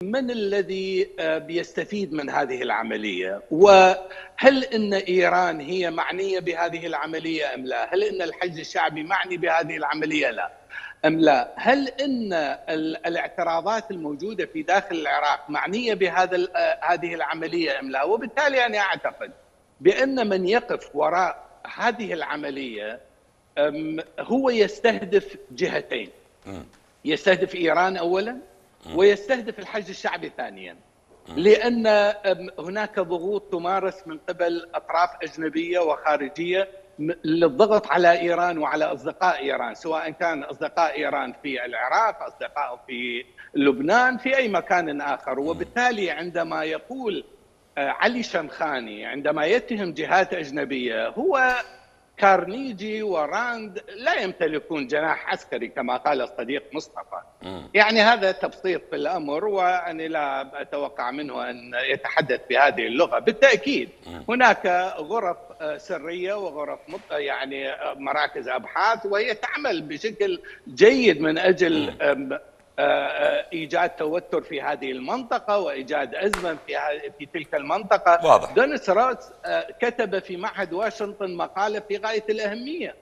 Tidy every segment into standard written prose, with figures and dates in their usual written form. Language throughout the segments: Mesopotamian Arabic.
من الذي بيستفيد من هذه العملية؟ وهل أن إيران هي معنية بهذه العملية أم لا؟ هل أن الحشد الشعبي معني بهذه العملية لا أم لا؟ هل أن الاعتراضات الموجودة في داخل العراق معنية هذه العملية أم لا؟ وبالتالي أنا أعتقد بأن من يقف وراء هذه العملية هو يستهدف جهتين، يستهدف إيران أولاً ويستهدف الحشد الشعبي ثانيا، لأن هناك ضغوط تمارس من قبل أطراف أجنبية وخارجية للضغط على إيران وعلى أصدقاء إيران، سواء كان أصدقاء إيران في العراق، أصدقاء في لبنان، في أي مكان آخر. وبالتالي عندما يقول علي شمخاني عندما يتهم جهات أجنبية، هو كارنيجي وراند لا يمتلكون جناح عسكري كما قال الصديق مصطفى. يعني هذا تبسيط في الأمر، وأنا لا أتوقع منه أن يتحدث بهذه اللغة. بالتأكيد هناك غرف سرية وغرف يعني مراكز أبحاث، وهي تعمل بشكل جيد من أجل إيجاد توتر في هذه المنطقة وإيجاد أزمة في تلك المنطقة. واضح. دونيس روس كتب في معهد واشنطن مقالة في غاية الأهمية.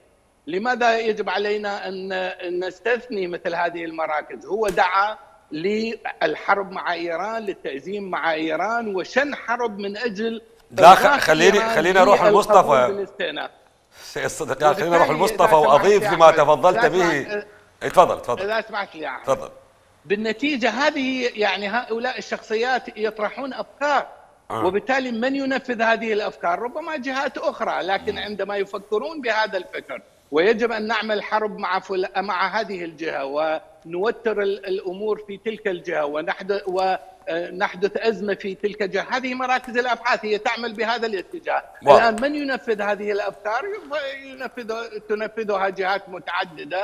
لماذا يجب علينا أن نستثني مثل هذه المراكز؟ هو دعا للحرب مع إيران، للتأزيم مع إيران، وشن حرب من أجل لا خلينا نروح لمصطفى. سيد الصديق، خلينا نروح لمصطفى وأضيف لما تفضلت به. تفضل إذا سمحت لي. تفضل. بالنتيجة هذه يعني هؤلاء الشخصيات يطرحون أفكار، وبالتالي من ينفذ هذه الأفكار؟ ربما جهات أخرى، لكن عندما يفكرون بهذا الفكر ويجب أن نعمل حرب مع هذه الجهة ونوتر الأمور في تلك الجهة ونحدث أزمة في تلك الجهة، هذه مراكز الأبحاث هي تعمل بهذا الاتجاه. الآن من ينفذ هذه الأفكار؟ تنفذها جهات متعددة